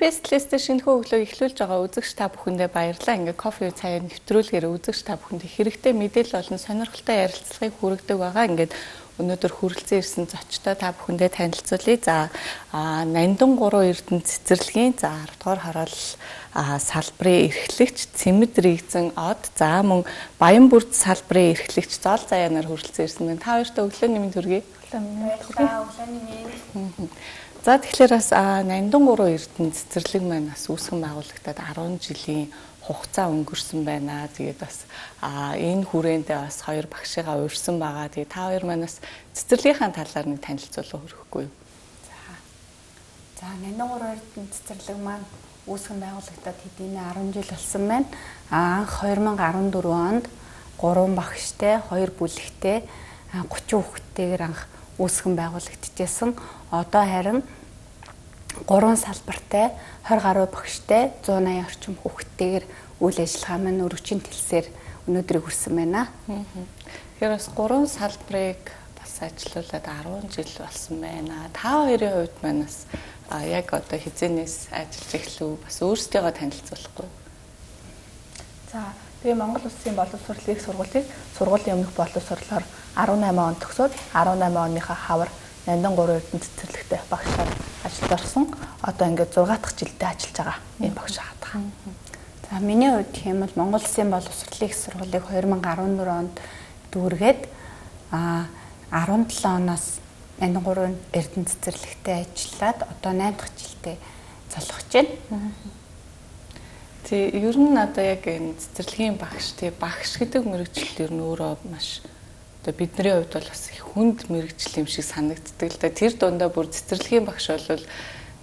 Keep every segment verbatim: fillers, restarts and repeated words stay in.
Бэстлистэ шинэхүү өглөө эхлүүлж байгаа үзэгч та бүхэндээ баярлалаа. Ингээ кофе цаяа нэвтрүүлгээр үзэгч та бүхэнд хэрэгтэй мэдээлэл болон сонирхолтой ярилцлагыг хүргэдэг байгаа. Ингээд өнөөдөр хүрэлцэн ирсэн зочтой та бүхэндээ танилцуулъя. За Нандин гурван Эрдэнэ цэцэрлэгийн за арав дугаар хороол салбарын эрхлэгч Цэмэд Рэгзэн од за мөн Баянбүрд салбарын эрхлэгч Зол Заяанаар хүрэлцэн ирсэн байна. Та хоёртаа өглөөний мэнд хүргэе. За тэгэхээр бас Нандин гурван Эрдэнэ цэцэрлэг маань бас үүсгэн байгуулагдаад арван жилийн хугацаа өнгөрсөн байна. Тэгээд бас энэ хүрээндээ бас хоёр багшигаа урьсан байгаа. Тэгээд та хоёр манаас цэцэрлэгийнхаа талаар нэг танилцуулга өргөхгүй юу? За. За Нандин гурван Эрдэнэ цэцэрлэг маань үүсгэн байгуулагдаад хэдийнэ арван жил болсон байна. Анх хоёр мянга арван дөрвөн онд гурван багштай, хоёр бүлэгтэй, гучин хүүхэдтэйгээр анх үүсгэн байгуулагдчихсан. Одоо харин гурван салбартай, хорь гаруй багштай, зуун аян орчим хүүхэдтэйгээр үйл ажиллагаа маань өргөчийн тэлсээр өнөөдрийг хүрсэн байна. Тэгэхээр бас гурван салбарыг бас ажиллаулаад арван жил болсон байна. Та хоёрын хувьд манаас яг одоо хизээнээс ажиллаж эхлэв бас өөрсдийгөө танилцуулахгүй. За би Монгол Улсын боловсролын их сургуулийг сургуулийн өмнөх боловсролоор арван намын онд төгсөөд арван намын оныхаа хавар Нандин гурван Эрдэнэ цэцэрлэгтэй багшаар ажилд орсон. Одоо ингээд зургаан дахь жилдээ ажиллаж байгаа энэ багш хатгаа. За миний хувьд тийм бол Монгол Улсын боловсролын их сургуулийг хоёр мянга арван дөрвөн онд дүүргээд а арван долоо оноос Нандин гурван Эрдэнэ цэцэрлэгтэй ажиллаад одоо найм дахь жилдээ цолгож байна. Тэг ер нь одоо яг энэ цэцэрлэгийн багш тий багш гэдэг мэргэжил ер нь өөрөө маш одоо бидний хувьд бол бас их хүнд мэргэжил юм шиг санагддаг л да. Тэр дундаа бүр цэцэрлэгийн багш бол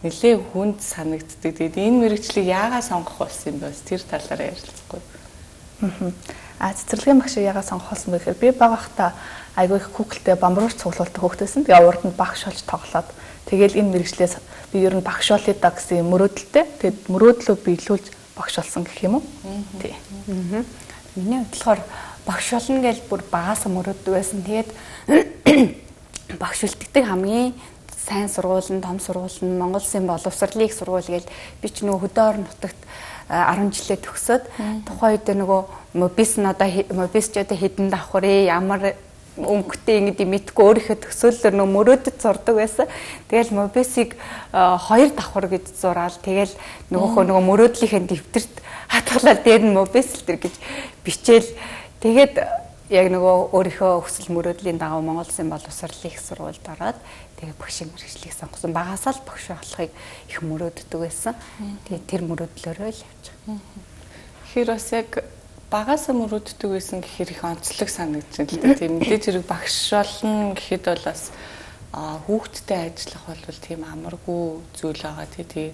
нэлээ хүнд санагддаг. Тэгээд энэ мэргэжлийг яагаад сонгох болсон юм бэ? Тэр талаараа ярилцахгүй. Аа цэцэрлэгийн багшийг яагаад сонгох болсон бэ гэхээр би бага хта айгүй их Google-тэй бамбарууч цуглуулдаг хөгтөөсөн. Тэгээ урд нь багш болж тоглоод тэгэл энэ мэргэжлээс би ер нь багш болъё да гэсэн мөрөөдөлтэй. Тэгээд мөрөөдлөө биелүүлж багш болсон гэх юм уу? Тий. Миний хувьд болохоор багш болно гэж бүр багаас мөрөөддөг байсан. Тэгээд багш үлддэг хамгийн сайн сургууль нь, том сургууль нь Монгол Улсын боловсролын их сургууль гэж би ч нөгөө хөдөө орон нутагт арван жилээ төгсөөд тухайн үед нөгөө мобис нь одоо мобис ч одоо хэдэн давхар ээ ямар өнгөтэй ингэдэг мэдгүй өөрийнхөө төсөөллөөр нөө мөрөөдөд зурдаг байсан. Тэгэл мобисыг хоёр давхар гэж зураал. Тэгэл нөгөөхөө нөгөө мөрөөдлийнхээ дэвтэрт хатгалаад дээр нь мобис л төр гэж бичээл. Тэгээд яг нөгөө өөрийнхөө хүсэл мөрөөдлийн дагуу Монгол Улсын боловсролын их сургуульд ороод тэгээ багшийн мэргэжлийг сонгосон. Багасаа л багш болохыг их мөрөөддөг байсан. Тэгээд тэр мөрөөдлөөрөө л явж байгаа. Тэгэхээр бас яг багасаа мөрөөддөг байсан гэхээр их онцлог санагдаж байна л да. Тийм мэдээж хэрэг багш болно гэхэд бол бас хүүхдтэй ажиллах бол тийм амаргүй зүйл байгаа тий.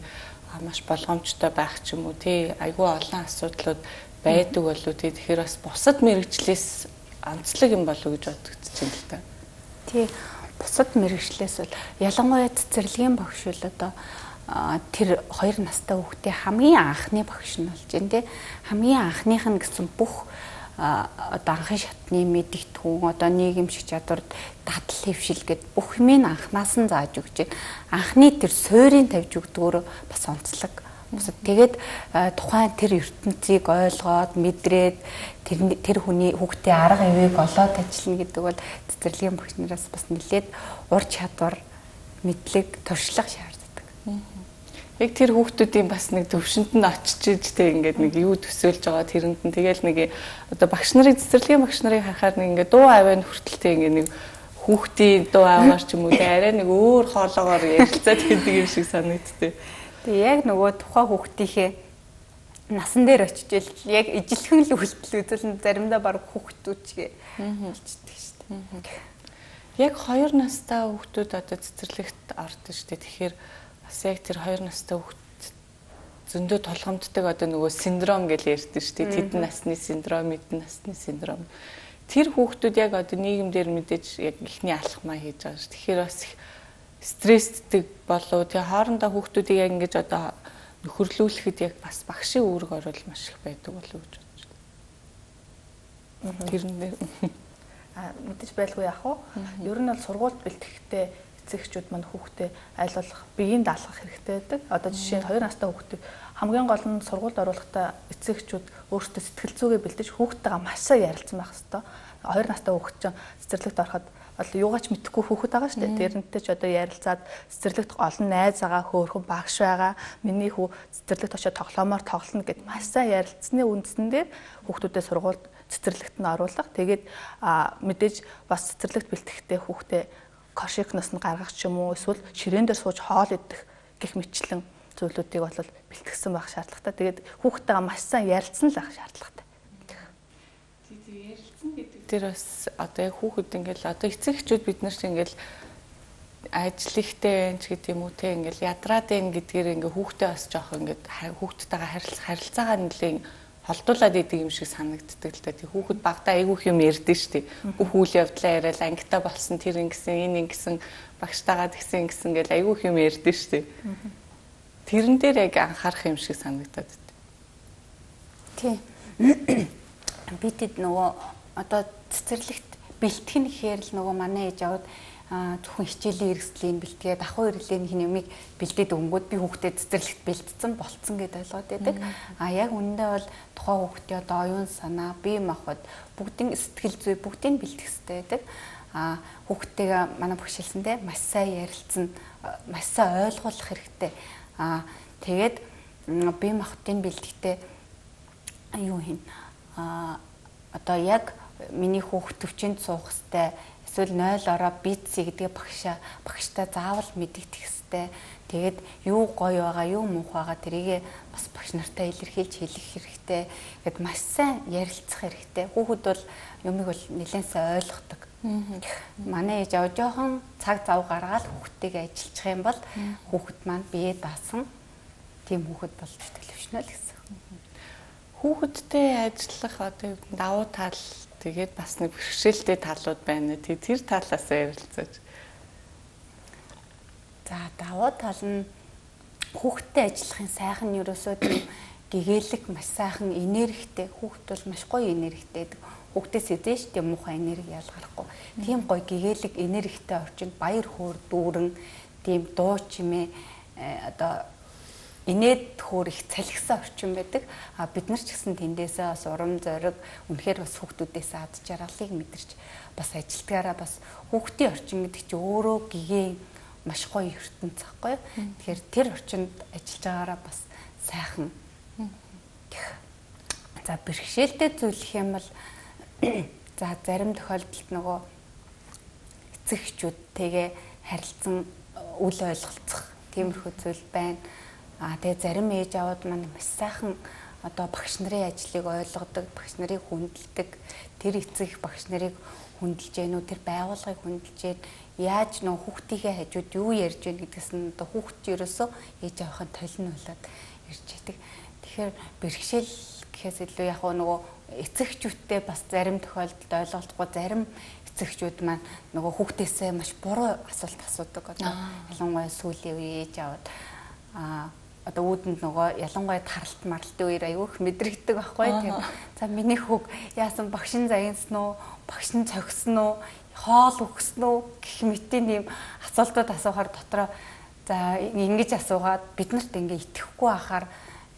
Маш болгоомжтой байх ч юм уу тий. Айгүй олон асуудлууд байдаг болов тий. Тэгэхээр бас бусад мэргэжлээс онцлог юм болов гэж бодогдож байна л да. Тий. Бусад мэргэжлээс бол ялангуяа цэцэрлэгийн багш бол одоо тэр хоёр настай хүүхдээ хамгийн анхны багш нь болж байна тий. Хамгийн анхных нь гэсэн бүх одоо анхны шатны мэдэгдэхүүн одоо нийгэмшиг чадвар дадал хэвшил гэд бүх юмыг анхнаас нь зааж өгч байна. Анхны тэр суурийг тавьж өгдөгөөр бас онцлог. Тэгээд тухайн тэр ертөнцийг ойлгоод мэдрээд тэр тэр хүний хүүхдийн арга ивийг олоод ажиллана гэдэг бол цэцэрлэгийн багш нараас бас нэлээд ур чадвар мэдлэг туршлага шаарддаг. Яг тэр хүүхдүүдийн бас нэг төвшөнд нь очиж ижтэй ингээд нэг юу төсөөлж байгаа тэрэнд нь тэгэл нэг одоо багш нарыг цэцэрлэгийн багш нарыг харахаар нэг ингээд дуу аваад хүртэлтэй ингээд нэг хүүхдийн дуу аваар ч юм уу арай нэг өөр хоолоогоор ярилцаад гэдэг юм шиг санагдтыг. Тэгээ яг нөгөө тухайн хүүхдийнхээ насан дээр очиж яг ижилхэн л үйлдэл үзүүлэн заримдаа баг хүүхдүүчгээ болчихдаг шүү дээ. Яг хоёр настай хүүхдүүд одоо цэцэрлэгт ордог шүү дээ. Тэгэхээр бас яг тэр хоёр настай хүүхд зөндөө толгомддог одоо нөгөө синдром гэж ярьдаг шүү дээ. Тэдэн насны синдром, эдэн насны синдром. Тэр хүүхдүүд яг одоо нийгэмдэр мэдээж яг ихний алхмаа хийж байгаа шүү. Тэгэхээр бас стресстэй болоо тэгээ хоорондоо хүүхдүүдийг яг ингэж одоо нөхөрлүүлэхэд яг бас багшийн үүрэг орол маш их байдаг болов уу гэж бодож байна. Тэр нэр а мэдээж байлгүй яах вэ? Ер нь бол сургуульд бэлтгэхдээ эцэгчүүд мань хүүхдээ аль болох биеийн даалгах хэрэгтэй байдаг. Одоо жишээ нь хоёр настай хүүхдийг хамгийн гол нь сургуульд оруулахдаа эцэгчүүд өөрсдөө сэтгэл зүгээ бэлдэж хүүхдтэйгээ маш сайн ярилцсан байх хэрэгтэй. Хоёр настай хүүхд чинь цэцэрлэгт ороход бол юугаач мэдэхгүй хүүхэд байгаа шүү дээ. Тэрнтэй ч одоо ярилцаад цэцэрлэгт олон найз байгаа, хөөрхөн багш байгаа. Миний хүү цэцэрлэгт очиод тоглоомоор тоглоно гэд маш сайн ярилцсны үндсэн дээр хүүхдүүдэд сургуульд цэцэрлэгт нь оруулах. Тэгээд мэдээж бас цэцэрлэгт бэлтгэхдээ хүүхдээ кошикноос нь гаргах ч юм уу эсвэл ширээн дээр сууж хоол идэх гэх мэтлэн зүйлүүдийг бол бэлтгэсэн байх шаардлагатай. Тэгээд хүүхдтэйгээ маш сайн ярилцсан л байх шаардлагатай. Тэр бас одоо яг хүүхэд ингээл одоо эцэг эхчүүд бид нар чинь ингээл ажил ихтэй байж гэдэг юм уу те ингээл ядраад ийн гэдгээр ингээ хүүхдээ бас жоох ингээд хүүхдтэйгээ харилцаагаа нэлийн холдуулаад идэг юм шиг санагддаг л та. Тэг хүүхэд багтаа айгүйх юм ярьдэн штий. Бүх үйл явдлаа яриад ангитаа болсон тэр ингэсэн энэ ингэсэн багштайгаа тэгсэн ингэсэн гэл айгүйх юм ярьдэн штий. Тэрэн дээр яг анхаарах юм шиг санагдаад байна. Тий. Бидэд нөгөө одоо цэцэрлэгт бэлтгэн гэхээр л нөгөө манай ээж аваад зөвхөн хичээлийн эрсдлийн бэлтгээд ахуй иргэлийн хин юмыг бэлдээд өнгөд би хүүхдэд цэцэрлэгт бэлдсэн болцсон гэдээ ойлгоод байдаг. А яг үүндээ бол тухайн хүүхдийн одоо оюун санаа, бие махбод бүгдийн сэтгэл зүй бүгдийг бэлтгэх хэрэгтэй байдаг. А хүүхдтэйгээ манай багш хэлсэндээ маш сайн ярилцсан, маш сайн ойлгуулах хэрэгтэй. А тэгээд бие махбодын бэлтгэхдээ юу хин а одоо яг миний хүүхд төвчөнд суух хэвээр эсвэл нойл ороо битси гэдэг багшаа багштай заавал мэдэгдэх хэвээр. Тэгээд юу гоё байгаа, юу муухай байгаа тэрийг бас багш нартай илэрхийлж хэлэх хэрэгтэй. Гэт маш сайн ярилцах хэрэгтэй. Хүүхэд бол юмыг бол нэлээд сайн ойлгодог. Манай ээж аваа жоохон цаг зав гаргаад хүүхдтэйгээ ажиллах юм бол хүүхэд маань бие даасан тийм хүүхэд болж төлөвшнө л гэсэн. Хүүхэдтэй ажиллах одоо давуу тал тэгээд бас нэг бэрхшээлтэй талууд байна. Тэр талаас ярилцаж. За давуу тал нь хүүхэдтэй ажиллахын сайхан нь ерөөсөө тийм гэгээлэг маш сайхан энергитэй. Хүүхэд бол маш гоё энергитэй байдаг. Хүүхдээс эзэж тийм муухай энерги ялгарахгүй. Тийм гоё гэгээлэг энергитэй орчинд баяр хөөр дүүрэн тийм дуу чимээ одоо инээд хөөр их цалхисан орчин байдаг. А бид нар ч гэсэн тэндээсээ бас урам зориг үнэхээр бас хүүхдүүдээс ад жаргалыг мэдэрч бас ажилтгаараа бас хүүхдийн орчин гэдэг чинь өөрөө гэгээ маш гоё ертөнц байхгүй. Тэгэхээр тэр орчинд ажиллаж байгаараа бас сайхан. За бэрхшээлтэй зүйлх юм бол за зарим тохиолдолд нөгөө эцэг эхчүүдтэйгээ харилцсан үл ойлголцох тиймэрхүү зүйл байна. А тэгээ зарим ээж аваад маань маш сайхан одоо багш нарын ажлыг ойлгодог, багш нарыг хүндэлдэг, тэр эцэг багш нарыг хүндэлж гэнэ үү, тэр байгууллагыг хүндэлж гэнэ, яаж нөө хүүхдийнхээ хажууд юу ярьж гэнэ гэдгээс нь одоо хүүхд ерөөсөө ээж авахын толин болоод ирж байдаг. Тэгэхээр бэрхшээл гэхээс илүү яг нөгөө эцэгчүүдтэй бас зарим тохиолдолд ойлголцохгүй зарим эцэгчүүд маань нөгөө хүүхдээсээ маш буруу асуулт асуудаг. Одоо ялангуяа сүүлийн үе ээж аваад а одоо үүдэнд нөгөө ялангуяа таралт маралтын үеэр аюух мэдрэгдэг байхгүй тийм. За миний хүүг яасан багшин заянсан уу, багшин цогсон уу, хоол өгсөн үү гэх мэтийн ийм асуултууд асуухаар дотроо за ингэж асуугаад бид нарт ингээ итгэхгүй байхаар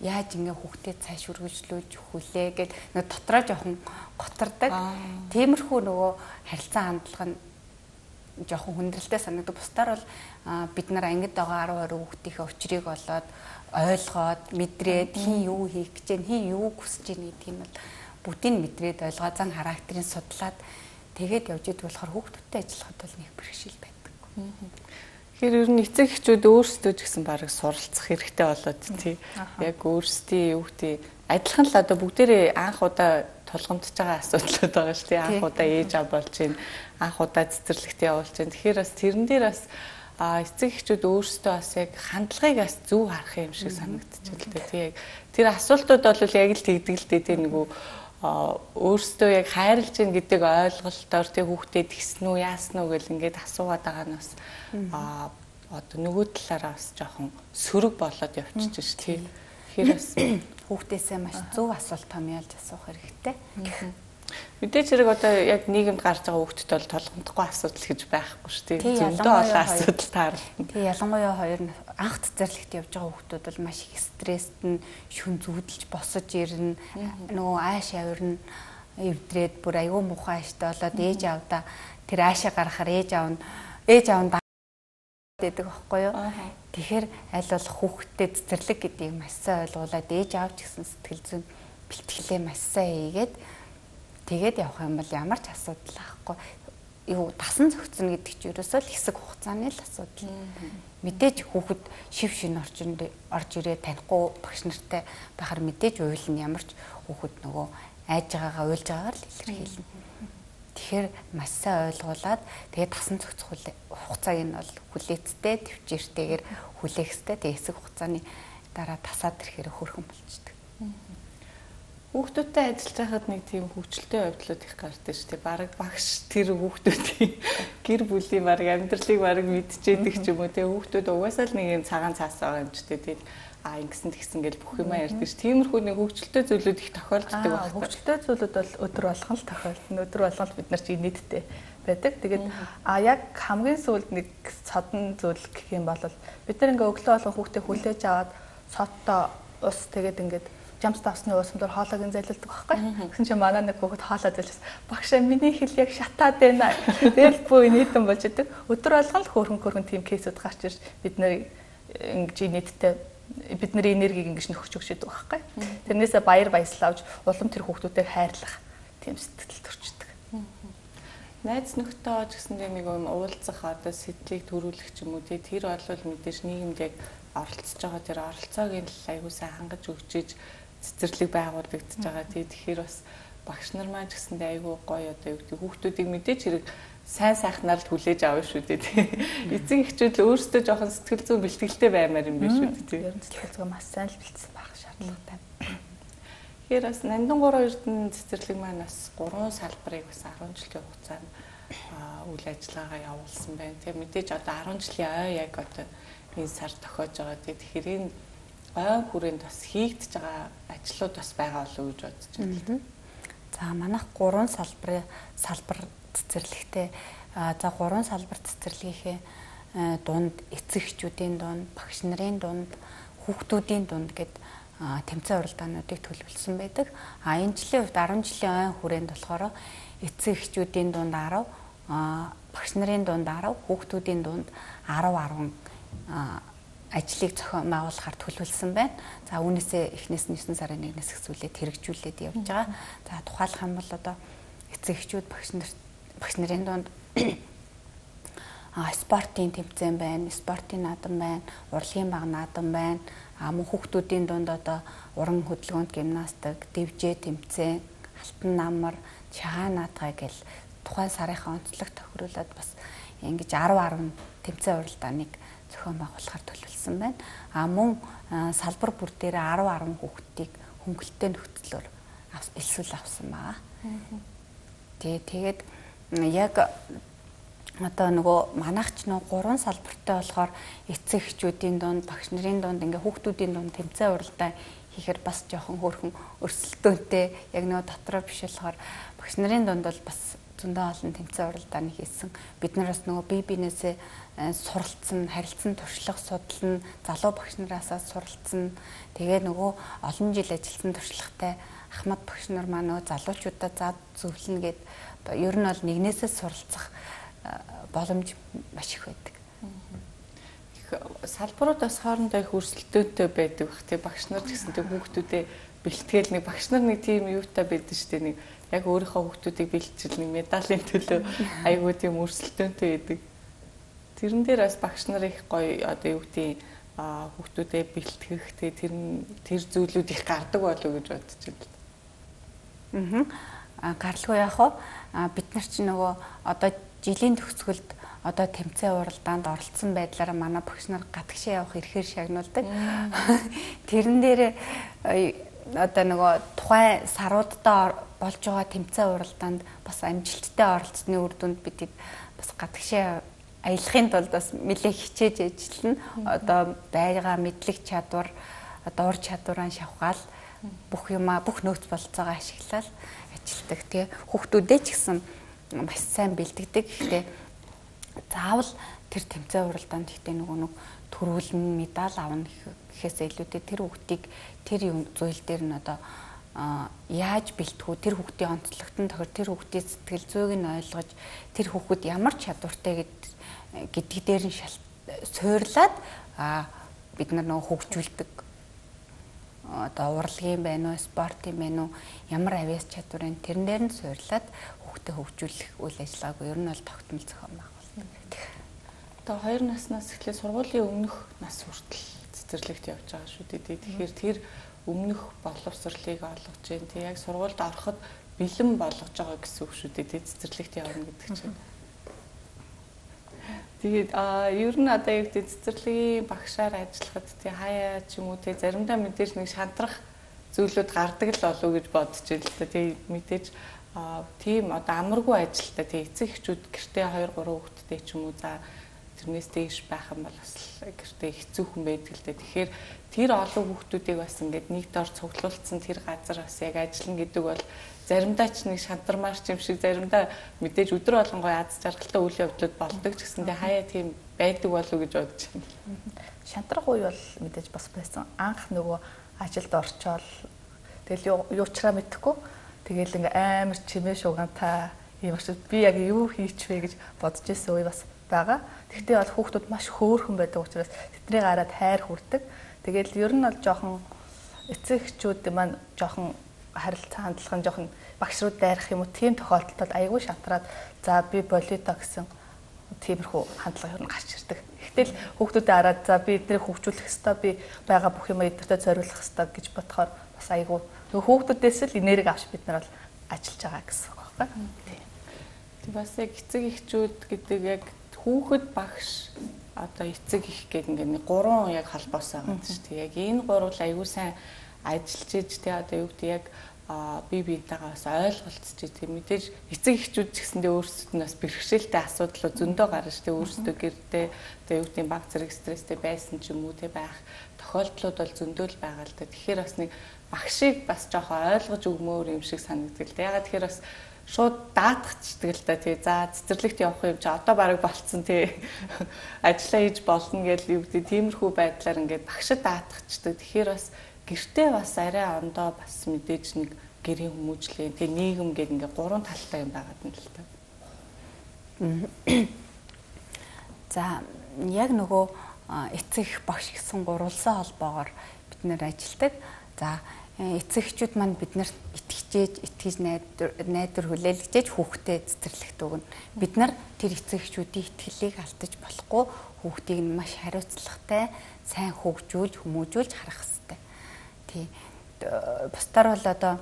яаж ингээ хүүхдэд цааш үргэлжлүүлж өгүүлээ гэд нөгөө дотроо жоохон готардаг. Тиймэрхүү нөгөө харилцаа хандлага нь жоохон хүндрэлтэй санагдав. Бусдаар бол бид нар ангид байгаа арав орой хүүхдийнхээ учрыг олоод ойлгоод мэдрээд хин юу хийх гэж байна, хин юу хүсэж байна гэдэг юм бол бүгдийг мэдрээд ойлгоо зан характерыг судлаад тэгээд явж идэг болохоор хүүхдүүдтэй ажиллахад бол нэг бэрхшээл байдаг. Тэгэхээр ер нь эцэг эхчүүд өөрсдөө ч гэсэн барыг суралцах хэрэгтэй болоод тий. Яг өөрсдийн юу гэдэг адилхан л одоо бүгдээрээ анх удаа тулгамдж байгаа асуудлууд байгаа шүү дээ. Анх удаа ээж аав болж байна, анх удаа цэцэрлэгт явуулж байна. Тэгэхээр бас тэрэн дээр бас а эцэг эхчүүд өөрсдөө бас яг хандлагыг бас зөв харах юм шиг санагдчихэ л дээ. Тий яг тэр асуултууд бол яг л тэгдэг л дээ. Тий нөгөө өөрсдөө яг хайрлж гин гэдэг ойлголтоор тий хүүхдэд гисэн үү яасан уу гэл ингээд асуугаад байгаа нь бас а одоо нөгөө талаараа бас жоохон сөрөг болоод явчихж ш тий. Тэгэхээр бас хүүхдээсээ маш зөв асуулт томьёолж асуух хэрэгтэй. Мэдээж хэрэг одоо яг нийгэмд гарч байгаа хүүхдэд бол толгомдохгүй асуудал гэж байхгүй шүү дээ. Зөндөө олон асуудал таарна. Тэгээ ялангуяа хоёр анх цэцэрлэгт явж байгаа хүүхдүүд бол маш их стресст нь шүн зүудэлж босож ирнэ. Нөгөө ааш авирна эвдрээд бүр аюу муухай аштай болоод ээж аавда тэр аашаа гаргахаар ээж аав нь ээж аав нь гэдэг байхгүй юу. Тэгэхээр аль болох хүүхдэд цэцэрлэг гэдгийг маш сайн ойлгуулад ээж аав ч гэсэн сэтгэл зүйн бэлтгэлээ маш сайн хийгээд тэгээд явах юм бол ямар ч асуудал байхгүй. Юу дасан зохицно гэдэг чинь ерөөсөө л хэсэг хугацааны л асуудал. Мэдээж хүүхэд шив шин орчинд орж ирээ танихгүй багш нартай байхаар мэдээж уйлна ямар ч хүүхэд нөгөө айж байгаагаа уйлж байгаагаар л илэрхийлнэ. Тэгэхээр маш сайн ойлгуулад тэгээд дасан зохицох хугацааг нь бол хүлээцтэй төвчээртэйгээр хүлээхстэй тэгээд хэсэг хугацааны дараа тасаад ирэхээр хөрхөн болчдөг. Хүүхдүүдтэй ажиллаж байхад нэг тийм хөвчлөлтэй явдлууд их гардаг шүү дээ. Бараг багш тэр хүүхдүүдийн гэр бүлийн бараг амьдралыг бараг мэдчихэдэг ч юм уу. Тэгээ хүүхдүүд угаасаа л нэг юм цагаан цаас байгаа юм ч дээ. А ингэсэн тэгсэн гэж бүх юмаа ярьдаг ш. Тиймэрхүү нэг хөвчлөлтэй зүйлүүд их тохиолддог байна. Хөвчлөлтэй зүйлүүд бол өдөр болгон л тохиолдно. Өдөр болгон л бид нар чи нийтдээ байдаг. Тэгээд а яг хамгийн сүүлд нэг содон зүйл гэх юм бол бид нар ингээ өглөө болгон хүүхдээ хүлээж аваад содтой ус тэгээд ингээд жамс тавсны уусамдор хоолойг зайлуулдаг байхгүй. Гэсэн чинь манай нэг хүүхэд хоолой зайлуулсан. Багшаа миний хэл яг шатаад байна. Тэгэл бүү нийтэн болж идэг. Өдөр болгон л хөөрхөн хөөрхөн тийм кейсүүд гарч ирж бид нар ингэж нийтдээ бидний энергийг ингэж нөхөж өгч идэг байхгүй. Тэрнээсээ баяр баясгал авч улам тэр хүүхдүүдийг хайрлах тийм сэтгэл төрчдөг. Найз нөхдөд гэсэндээ нэг юм уулзах одоо сэтлийг төрүүлэх ч юм уу тий тэр бол мэдээж нийгэмд яг оролцож байгаа тэр оролцоог нь аягүй сайн хангаж өгчиж цэцэрлэг байгуулагдаж байгаа тий тэгэхээр бас багш нар маань гэсэндээ аягүй гоё одоо юу гэдэг хүүхдүүдийг мэдээж хэрэг сайн сайхнаар л хүлээж авна шүү дээ тий. Эцэг эхчүүд л өөрсдөө жоохон сэтгэл зүйн бэлтгэлтэй баймаар юм биш үү тий. Ер нь сэтгэл зүйн маш сайн л бэлтсэн байх шаардлагатай. Тэгэхээр бас Нандингуурын Эрдэнэ цэцэрлэг маань бас гурван салбарыг бас арван жилийн хугацаанд үйл ажиллагаагаа явуулсан байна. Тэгээ мэдээж одоо арван жилийн ой яг одоо энэ сар тохиож байгаа. Тэгэхээр энэ ой хүрээнд бас хийгдэж байгаа ажлууд бас байгаа болов уу гэж бодож байна. За манайх гурван салбарын салбар цэцэрлэгтэй за гурван салбар цэцэрлэгийнхээ дунд эцэгчүүдийн дунд, багш нарын дунд, хүүхдүүдийн дунд гэд тэмцээн уралдаануудыг төлөвлөсөн байдаг. А энэ жилийн хувьд арван жилийн ой хүрээнд болохоор эцэгчүүдийн дунд арав, багш нарын дунд арав, хүүхдүүдийн дунд арав арван ажлыг зохион байгуулахаар төлөвлөсөн байна. За үүнээсээ эхнээс нь девять сарын нэгнээс эхлүүлээд хэрэгжүүлээд явж байгаа. За тухайлах юм бол одоо эцэгчүүд багш нар багш нарын дунд а спортын тэмцээн байна, спортын наадам байна, урлагийн баг наадам байна. А мөн хүүхдүүдийн дунд одоо уран хөдөлгөөнд гимнастик, дэвжээ тэмцээн, алтан намар, шагаан наадгай гэл тухайн сарынхаа онцлог тохируулаад бас ингэж арав арван тэмцээн уралдааныг зохион байгуулахаар төлөвлөсөн байна. А мөн салбар бүр дээр арав арван хүүхдийг хөнгөлөлттэй нөхцлөөр элсүүл авсан байгаа. Тэгээ тэгээд яг одоо нөгөө манайхч нөгөө гурван салбартай болохоор эцэг эхчүүдийн дунд, багш нарын дунд ингээ хүүхдүүдийн дунд тэмцээн уралдаан хийхээр бас жоохон хөөрхөн өрсөлдөөнтэй яг нөгөө дотроо биш болохоор багш нарын дунд бол бас зөндөө олон тэмцээн уралдааны хийсэн. Бид нар бас нөгөө бие биенээсээ суралцсан, харилцан туршлага судална, залуу багш нараасаа суралцсан. Тэгээ нөгөө олон жил ажилласан туршлагатай Ахмад багш нар маань нөгөө залуучуудаа зад зөвлөнө гэд ер нь бол нэгнээсээ суралцах боломж маш их байдаг. Салбарууд бас хоорондоо их өрсөлдөөнтэй байдаг бах тий багш нар гэсэн тэг хүүхдүүдээ бэлтгэл нэг багш нар нэг тийм юутай байдаг шүү дээ нэг яг өөрийнхөө хүүхдүүдийг бэлтжил нэг медалийн төлөө айгуу тийм өрсөлдөөнтэй байдаг. Тэрэн дээр бас багш нар их гоё одоо юу гэдэг хүүхдүүдээ бэлтгэх тий тэр тэр зүйлүүд их гардаг болов уу гэж бодож байна. Аа гарлгүй яах вэ? Бид нар чи нөгөө одоо жилийн төгсгөлд одоо тэмцээн уралдаанд оролцсон байдлаараа манай багш нар гадагшаа явах эрхээр шагнуулдаг. Тэрэн дээр одоо нөгөө тухайн саруудаа болж байгаа тэмцээн уралдаанд бас амжилттай оролцсны үр дүнд бид бас гадагшаа аялахын тулд бас нэлээд хичээж ажиллана. Одоо байгаа мэдлэг чадвар, одоо ур чадвараа шавхаал бүх юмаа бүх нөөц болцоогоо ашиглаад ажилладаг. Тэгээ хүүхдүүдээ ч гэсэн маш сайн бэлддэг. Гэхдээ заавал тэр тэмцээн уралдаанд ихтэй нөгөө нэг төрүүлэн медаль авна гэхээс илүүтэй тэр хүүхдийг тэр зүйл дээр нь одоо яаж бэлтгэв, тэр хүүхдийн онцлогтон тохир, тэр хүүхдийн сэтгэл зүйг нь ойлгож, тэр хүүхэд ямар чадвартай гэдэг дээр нь суйрлаад бид нар нөгөө хөгжүүлдэг одоо урлагийн байна уу, спортын байна уу, ямар авиас чадварын тэрэн дээр нь суйрлаад хүүхдэд хөгжүүлэх үйл ажиллагааг ер нь бол тогтмол зохион байгуулдаг. Одоо хоёр наснаас эхлээд сургуулийн өмнөх нас хүртэл цэцэрлэгт явж байгаа шүү дээ. Тэгэхээр тэр өмнөх боловсролыг олгож जैन. Тэг яг сургуульд ороход бэлэн болгож байгаа гэсэн үг шүү дээ. Цэцэрлэгт явна гэдэг чинь. Тэгээд а ер нь одоо яг цэцэрлэгийн багшаар ажиллахад тий хаяа ч юм уу тий заримдаа мэдээж нэг шантрах зүйлүүд гардаг л болов уу гэж бодож байна л да. Тий мэдээж тийм одоо амаргүй ажилтаа тий эцэг эхчүүд гэртээ хоёр гурван хүүхэдтэй ч юм уу за тэрнээс дээш байх юм бол бас гэртээ хэцүүхэн байдаг л да. Тэгэхээр тэр олон хүүхдүүдийг бас ингээд нэг дор цуглуулсан тэр газар бас яг ажиллана гэдэг бол заримдаа ч нэг шантармаарч юм шиг заримдаа мэдээж өдөр болгонгой аз жаргалтай үйл явдлууд болдог ч гэсэндээ хаяа тийм байдаг болов уу гэж бодож байна. Шантрах үе бол мэдээж бас байсан. Анх нөгөө ажилд орчоол тэгэл юучраа мэдхгүй тэгэл ингээ амар чимээ шугантай юм шиг би яг юу хийчихвэ гэж бодож ирсэн үе бас байгаа. Тэгтээ бол хүүхдүүд маш хөөрхөн байдаг учраас тэдний гараад хайр хүрдэг. Тэгэл ер нь бол жоохон эцэг эхчүүд маань жоохон харилцаа хандлага нь жоохон багш руу дайрах юм уу тийм тохиолдолд бол айгүй шантраад за би болиото гэсэн тиймэрхүү хандлага ер нь гарч ирдэг. Гэтэл хүүхдүүдэд хараад за би эднийг хөгжүүлэх ёстой би байгаа бүх юм эдгээртээ зориулах ёстой гэж бодохоор бас айгүй нөгөө хүүхдүүдээс л энерги авч бид нар бол ажиллаж байгаа гэсэн үг байна. Тэг бас яг эцэг эхчүүд гэдэг яг хүүхэд багш одоо эцэг их гэдэг ингээд нэг гурван яг холбоос байгаа шүү дээ. Яг энэ гурвал аюу сайн ажиллаж иж тэ одоо юу гэдэг яг би биентэйгээ бас ойлголцож тийм мэдээж эцэг эхчүүд ч гэсэндээ өөрсдөд нь бас бэрхшээлтэй асуудал зөндөө гарна шүү дээ. Өөрсдөө гэрдээ одоо юу гэдэг баг зэрэг стресстэй байсан ч юм уу тэ байх тохиолдлууд бол зөндөө л байгаа л да. Тэгэхээр бас нэг багшийг бас жоохон ойлгож өгмөөр юм шиг санагддаг л да. Ягаад тэгэхээр бас шууд даатгачдаг л да тий. За цэцэрлэгт явах юм чи одоо бараг болцсон тий. Ажиллаа хийж болно гэж юу гэдэг тиймэрхүү байдлаар ингээд багшид даатгачдаг. Тэгэхээр бас гэртээ бас арай ондоо бас мэдээж нэг гэрийн хүмүүжлээ тий нийгэм гэдэг ингээд гурван талтай юм байгаад нь л та. За яг нөгөө эцэг багш гэсэн гурвалсан холбоогоор бид нэр ажилдаг. За эцэгчүүд маань биднэрт итгэжээж, итгэж найдар найдар хүлээлгэж хүүхдэд цэцэрлэгт өгнө. Бид нар тэр эцэгчүүдийн итгэлийг алдаж болохгүй хүүхдийг нь маш хариуцлагатай, сайн хөгжүүлж, хүмүүжүүлж харах хэрэгтэй. Тий. Бусдаар бол одоо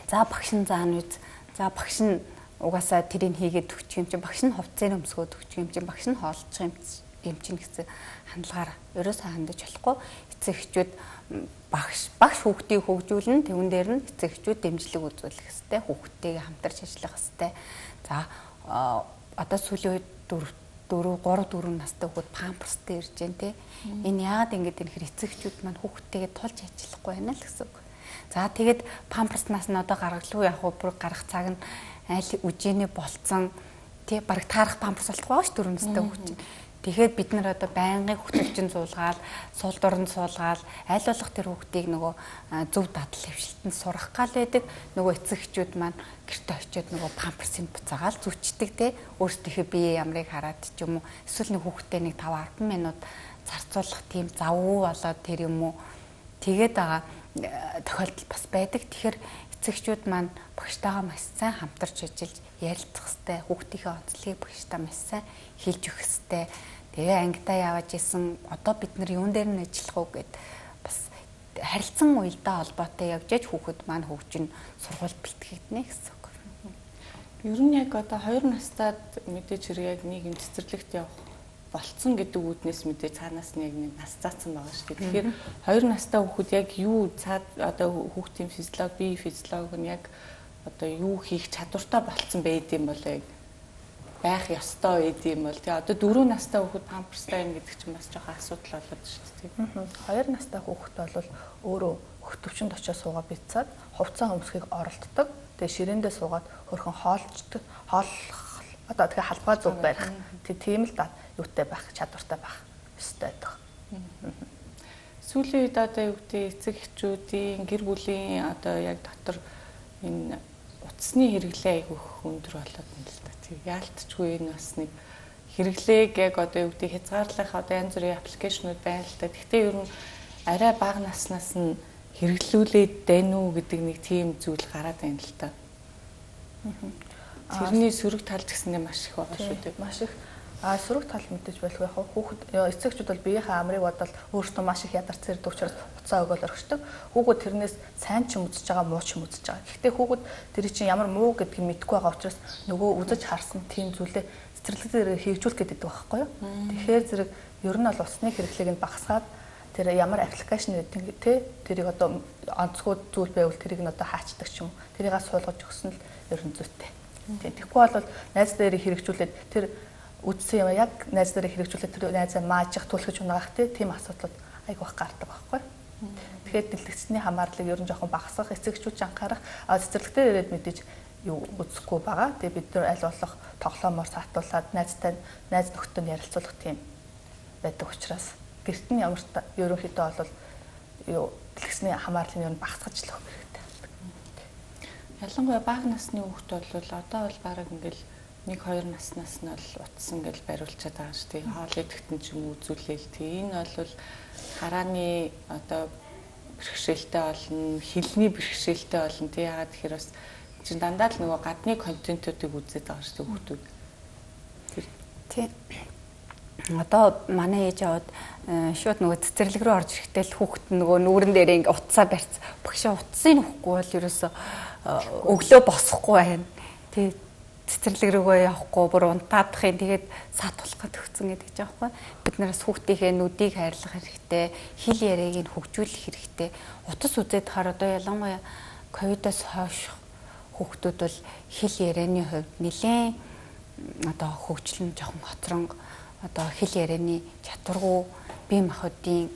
за багш нь заана үз. За багш нь угаасаа тэрийг хийгээд өгчих юм чинь багш нь хувцсээр өмсгөөд өгчих юм чинь багш нь хоолчих юм юм чинь гэсэн хандлагаар ерөөсөө хандаж болохгүй. Эцэгчүүд багш багш хүүхдийг хөгжүүлнэ тэгүн дээр нь эцэгчүүд дэмжлэг үзүүлэх хэрэгтэй хүүхдтэйгээ хамтарч ажиллах хэрэгтэй. За одоо сүүлийн үед дөрөв гурав дөрөв настай хүүхэд памперстэй ирж байна те. Энэ яагаад ингэж энэ хэр эцэгчүүд маань хүүхдтэйгээ тулж ажиллахгүй байна л гэсэн үг. За тэгээд памперснаас нь одоо гаргалгүй яг бүр гарах цаг нь аль үжиний болцсон тий бараг таарах памперс болтгоо байгаа ш дөрөв настай хүүхэд. Тэгэхээр бид нар одоо байнгын хөтөлчин суулгаал, сул дорн суулгаал, аль болох тэр хүүхдийг нөгөө зөв дадал хвшилтэнд сурах гал байдаг. Нөгөө эцэгчүүд маань гэрте очиод нөгөө памперсыг буцаагаал зүчдэг те. Өөрсдийнхөө бие ямрыг хараад ч юм уу эсвэл нэг хүүхдээ нэг таван арван минут зарцуулах тийм завгүй болоод тэр юм уу тэгээд байгаа тохиолдол бас байдаг. Тэгэхээр эцэгчүүд маань багштайгаа маш сайн хамтарч ажиллаж ярилцах хэрэгтэй. Хүүхдийнхээ онцлогийг багштаа маш сайн хэлж өгөх хэрэгтэй. Тэгээ ангидаа явж исэн одоо бид нар юун дээр нь ажиллах уу гэд бас харилцан уялдаа холбоотой явж яж хүүхэд маань хөгжин сургууль бэлтгэгдэнэ гэсэн үг. Ер нь яг одоо хоёр настад мэдээж хэрэг яг нийгэм цэцэрлэгт явах болцсон гэдэг үүднээс мэдээ цаанаас нь яг нэг нас заасан байгаа шүү дээ. Тэгэхээр хоёр настай хүүхэд яг юу цаад одоо хүүхдийн физиологи, бие физиологи нь яг одоо юу хийх чадвартай болцсон байд юм бол яг байх ёстой байд юм бол тий одоо дөрөв настай хүүхэд памперстай юм гэдэг чинь бас жоохон асуудал болоод шүү дээ. хоёр настай хүүхэд бол өөрөө хөх төвчөнд очиж суугаа бицээд хувцас өмсөхийг оролддог. Тэгээ ширээндээ суугаад хөрхөн хоолчдаг, хооллох одоо тэгээ халбаа зүг барих. Тэг тийм л да юутай байх, чадвартай байх ёстой байдаг. Сүүлийн үед одоо юу гэдэг эцэг эхчүүдийн гэр бүлийн одоо яг дотор энэ утасны хэрэглээ айгүйх өндөр болоод байна л да. Тэг яалтчгүй энэ бас нэг хэрэглээг яг одоо юу гэдэг хязгаарлах одоо янз бүрийн аппликейшнуд байна л да. Гэхдээ ер нь арай бага наснаас нь хэрэглүүлээд байна уу гэдэг нэг тийм зүйл гараад байна л да. Тэрний сөрөг тал гэсэндээ маш их байгаа шүү дээ. Маш их. А сөрөг тал мэдээж болох яг хүүхэд эцэгчүүд бол биеийнхээ амрыг бодол өөртөө маш их ядарч зэрэг учраас уцаа өгөөл орхидог. Хүүхэд тэрнээс сайн ч юм үзэж байгаа, муу ч юм үзэж байгаа. Гэхдээ хүүхэд тэр чинь ямар муу гэдгийг мэдэхгүй байгаа учраас нөгөө үзэж харсан тийм зүйлээ цэцэрлэгээр хийгжүүлэх гэдэг байхгүй юу? Тэгэхээр зэрэг ер нь бол усны хэрэглээг нь багасгаад тэр ямар аппликейшн гэдэг те тэрийг одоо онцгой зүйл байвал тэрийг нь одоо хаачдаг ч юм. Тэрийгээ суулгаж өгсөн л ер нь зүйтэй. Тэгэхгүй бол найз дээр хэрэгжүүлээд тэр үдсэн юм яг найз дээр хэрэгжүүлээд тэр найзаа маажих түлхэж унаах тийм асуудлууд айгу их гардаг байхгүй. Тэгэхээр дэлгэцний хамаарлыг ер нь жоохон багасгах, эцэгчүүд анхаарах, а цэцэрлэгтэр ирээд мэдээж юу үзэхгүй байгаа. Тэгээ бид нар аль болох тоглоомоор саатуулаад найзтай найз нөхдөд ярилцуулах тийм байдаг учраас гэрт нь ямар ерөнхийдөө бол юу дэлгэцний хамаарлыг ер нь багасгаж л өгөх хэрэгтэй. Ялангуяа бага насны хүүхэд бол одоо бол бараг ингээл нэг хоёр наснаас нь бол утас ингээл бариулчаад байгаа шүү дээ. Хоол идэхтэн ч юм үзүүлээл тий. Энэ бол харааны одоо бэрхшээлтэй болно, хилний бэрхшээлтэй болно тий. Ягаад тэгэхээр бас чинь дандаа л нөгөө гадны контентуудыг үзээд байгаа шүү дээ хүүхдүүд. Тий. Одоо манай ээж аваад шууд нөгөө цэцэрлэг рүү орж ирэхдээ л хүүхэд нөгөө нүүрэн дээр ингээ утсаа барьц. Багшаа утсыг нөхгүй бол ерөөсө өглөө босохгүй байна. Тий цэцэрлэг рүүгээ явахгүй бүр унтаадахын тэгээд саатуулах гэж өгсөн гэдэг ч аахгүй. Бид нараас хүүхдийнхээ нүдийг хайрлах хэрэгтэй, хэл яриаг нь хөгжүүлэх хэрэгтэй. Утас үзээд хаар одоо ялангуяа ковидоос хойш хүүхдүүд бол хэл ярианы хувьд нэлээд одоо хөгжлөн жоохон хоцронго одоо хэл ярианы чадваргүй бие махбодын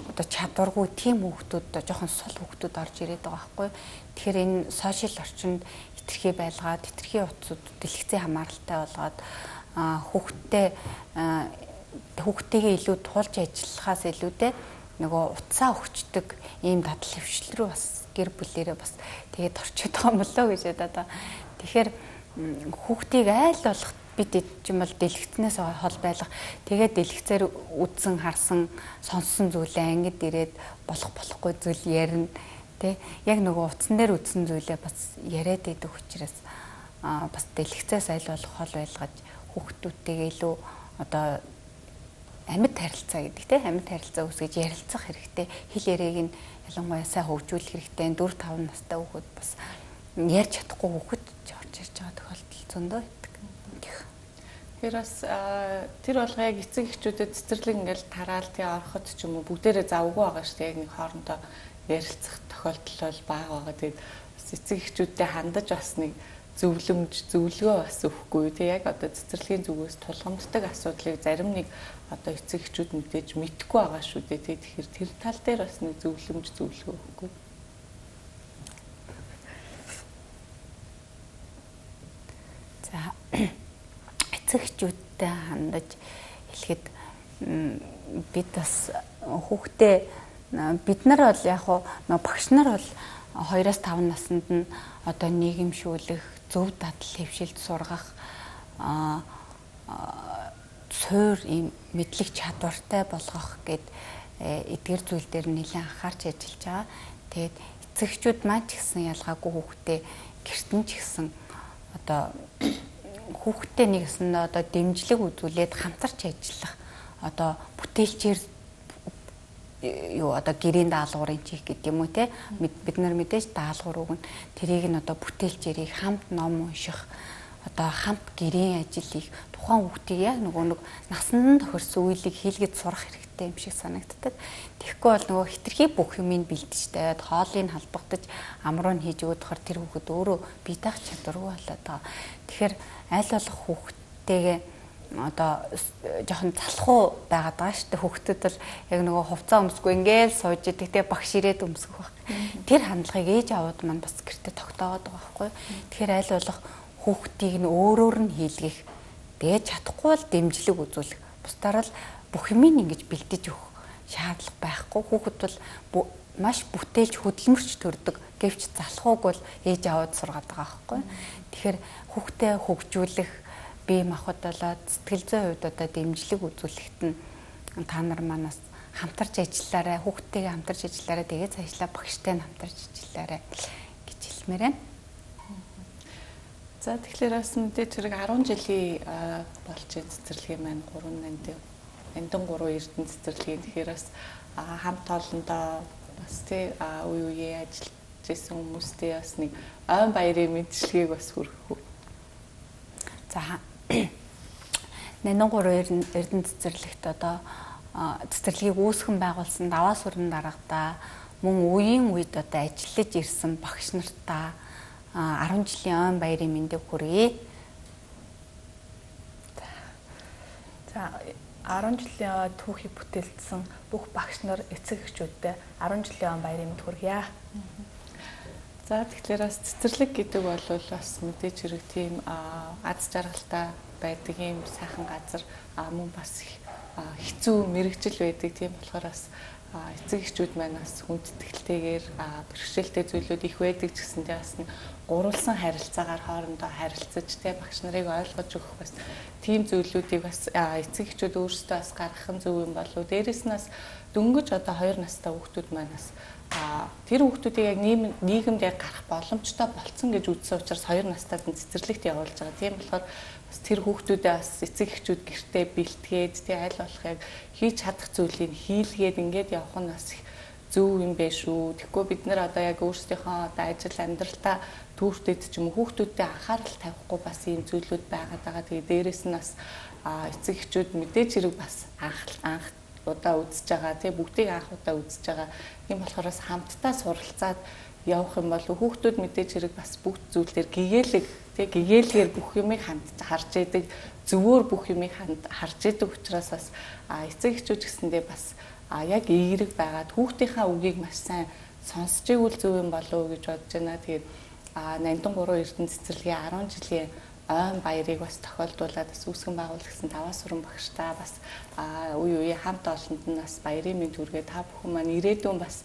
одоо чадваргүй тийм хүүхдүүд одоо жоохон сул хүүхдүүд орж ирээд байгаа байхгүй. Тэгэхээр энэ сошиал орчинд хэтэрхий байлгаад хэтэрхий утсууд дэлгэцийн хамааралтай болгоод хүүхдтэй хүүхдтэйгээ илүү тулж ажиллахаас илүүтэй нөгөө утсаа өгчдөг ийм дадал хөвшил рүү бас гэр бүлэрээ бас тэгээд орчод байгаа юм болоо гэж одоо тэгэхээр хүүхдийг айл болох бид юм бол дэлгэцнээс хол байлах тэгээд дэлгэцээр үдсэн харсан сонссон зүйлээ ангид ирээд болох болохгүй зүйл ярина тий яг нөгөө утсан дээр үдсэн зүйлээ бас яриад идэг учраас бас дэлгэцээс айл болох хол байлгаж хүүхдүүдтэйгээ илүү одоо амьд харилцаа гэдэг тий амьд харилцаа үүсгэж ярилцах хэрэгтэй хэл яриаг нь ялангуяа сайн хөгжүүлэх хэрэгтэй дөрв тав настай хүүхэд бас ярьж чадахгүй хүүхэд орж ирж байгаа тохиолдол зөндөө байдаг. Тэр бас тэр болгоо яг эцэг эхчүүдэд цэцэрлэг ингээл тараал тий ороход ч юм уу бүгдээрээ завгүй байгаа шүү дээ яг нэг хоорондоо ярилцах тохиолдол бол бага байгаа. Тэгээд бас эцэг эхчүүдтэй хандаж бас нэг зөвлөмж зөвлөгөө бас өгөхгүй тий яг одоо цэцэрлэгийн зүгээс тулгамддаг асуудлыг зарим нэг одоо эцэг эхчүүд мэдээж мэдхгүй байгаа шүү дээ тий тэгэхээр тэр тал дээр бас нэг зөвлөмж зөвлөгөө өгөхгүй. За эцэг эхчүүдтэй хандаж хэлэхэд бид бас хүүхдээ бид нар бол яг нөө багш нар бол хоёроос таван наснд нь одоо нийгэмшүүлэх, зөв дадал хэвшилд сургах суур ийм мэдлэг чадвартай болгох гэд эдгээр зүйл дээр нэлээд анхаарч ажиллаж байгаа. Тэгээд эцэгчүүд маань ч гэсэн ялгаагүй хүүхдээ гэртэн ч гэсэн одоо хүүхдтэй нэгсэн одоо дэмжлэг үзүүлээд хамтарч ажиллах одоо бүтээлчээр юу одоо гэрийн даалгаврын чих гэдэг юм уу те бид нар мэдээж даалгавар өгнө тэрийг нь одоо бүтээлчээрийг хамт ном унших одоо хамт гэрийн ажил хийх тухайн хүүхдийг яг нөгөө нэг насанд тохирсон үеийг хийлгэж сурах хэрэгтэй юм шиг санагддаг. Тэгэхгүй бол нөгөө хитрхи бүх юмыг бэлдэж тавиад хоолыг халбагдаж амруу нь хийж өгөх хор тэр хүүхэд өөрөө бие даах чадваргүй болоод байгаа. Тэгэхээр аль болох хүүхдтэйгээ одоо жоохон залхуу байгаад байгаа шүү дээ. Хүүхдүүд бол яг нөгөө хувцас өмсгөө ингээл сууж идэг те багш ирээд өмсгөх баг. Тэр хандлагыг ээж аваад маань бас гэртээ тогтооод байгаа байхгүй. Тэгэхээр аль болох хүүхдийг нь өөрөөр нь хийлгэх, дээж чадахгүй бол дэмжлэг үзүүлэх. Бусдаар л бүх юмыг ингэж бэлдэж өгөх шаардлага байхгүй. Хүүхэд бол маш бүтээлч хөдөлмөрч төрдөг. Гэвч залхууг бол ээж аваад сургаад байгаа байхгүй. Тэгэхээр хүүхдээ хөгжүүлэх, бие махбодолоод сэтгэл зүйн хувьд одоо дэмжлэг үзүүлэхэд нь та нар манаас хамтарч ажиллаарай, хүүхдтэйгээ хамтарч ажиллаарай, тэгээд цаашлаа багштай нь хамтарч ажиллаарай гэж хэлмээр байна. За тэгэхээр бас мэдээж хэрэг арван жилийн болж байгаа цэцэрлэгийн маань гурван нанд нандин гурван эрдэнэ цэцэрлэгийн тэгэхээр бас хамт олондоо бас тий үе үеийн ажиллаж исэн хүмүүстэй бас нэг ойн баярын мэдчилгээг бас хүргэх. За нандин гурван эрдэнэ цэцэрлэгт одоо цэцэрлэгийг үүсгэн байгуулсан даваа сүрэн дарагдаа мөн үеийн үед одоо ажиллаж ирсэн багш нартаа арван жилийн ойн баярын мэндийг хүргэе. За арван жилийн түүхийг бүтээлсэн бүх багш нар эцэг эхчүүдтэй арван жилийн ойн баярын мэнд хүргье. За тэгэхээр бас цэцэрлэг гэдэг бол бас мэдээж хэрэг тийм аз жаргалтай байдаг юм сайхан газар мөн бас хэцүү мэрэгжил байдаг тийм болохоор бас эцэг эхчүүд маань бас хүндэтгэлтэйгээр бэрхшээлтэй зүйлүүд их байдаг ч гэсэндээ бас гурвалсан харилцаагаар хоорондоо харилцаж тэ багш нарыг ойлгож өгөх бас тийм зүйлүүдийг бас эцэг эхчүүд өөрсдөө бас гаргах нь зөв юм болов. Дээрээс нь бас дөнгөж одоо хоёр настай хүүхдүүд маань бас тэр хүүхдүүдийг яг нийгэмд яг гарах боломжтой болцсон гэж үзсэн учраас хоёр настайд нь цэцэрлэгт явуулж байгаа. Тийм болохоор бас тэр хүүхдүүдээ бас эцэг эхчүүд гэртээ бэлтгээд тий аль болох яг хийж чадах зүйлийг хийлгээд ингээд явах нь бас зөв юм бэ шүү. Тэгэхгүй бид нар одоо яг өөрсдийнхөө одоо ажил амьдралтаа түүртэд ч юм уу хүүхдүүдтэй анхаарал тавихгүй бас ийм зүйлүүд байгаад байгаа. Тэгээ дээрэс нь бас эцэг эхчүүд мэдээж хэрэг бас анх анх удаа үзэж байгаа тий бүгдийг анх удаа үзэж байгаа. Тийм болохоор бас хамтдаа суралцаад явах юм бол хүүхдүүд мэдээж хэрэг бас бүгд зүйлээр гэгээлэг тий гэгээлгээр бүх юмыг ханд харж идэг зөвөр бүх юмыг харж идэг учраас бас эцэг эхчүүд гэсэндээ бас яг эерэг байгаад хүүхдийнхаа үгийг маш сайн сонсч игэл зөв юм болов уу гэж бодож байна. Тэгээд нандин гурван эрдэнэ цэцэрлэгийн арван жилийн ойн баярыг бас тохиолдуулаад бас үүсгэн байгуулсан даваа сүрэн багштай бас үе үе хамт олонд нь бас баярын мэнд хүргээ та бүхэн маань ирээдүйн бас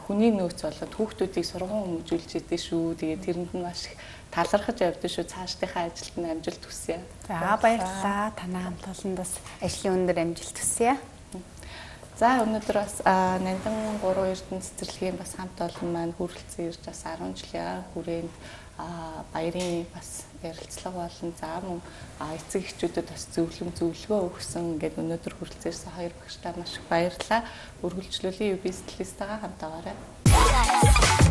хүний нөөц болоод хүүхдүүдийг сургууль хөгжүүлж идэв шүү. Тэгээд тэрэнд нь маш их талархаж явдсан шүү. Цаашдынхаа ажилд нь амжилт хүсье. За баярлалаа. Танай хамт олонд бас ажлын өндөр амжилт хүсье. За өнөөдөр бас нандин гурван эрдэнэ цэцэрлэгийн бас хамт олон маань хүрэлцэн ирж бас арван жилийн хүрээнд баярын бас ярилцлага болон за мөн эцэг эхчүүдэд бас зөвлөм зөвлөгөө өгсөн ингээд өнөөдөр хүрэлцээрсэн хоёр багштай маш их баярлалаа. Үргэлжлүүлэн ю би стилистагаа хамт байгаарай.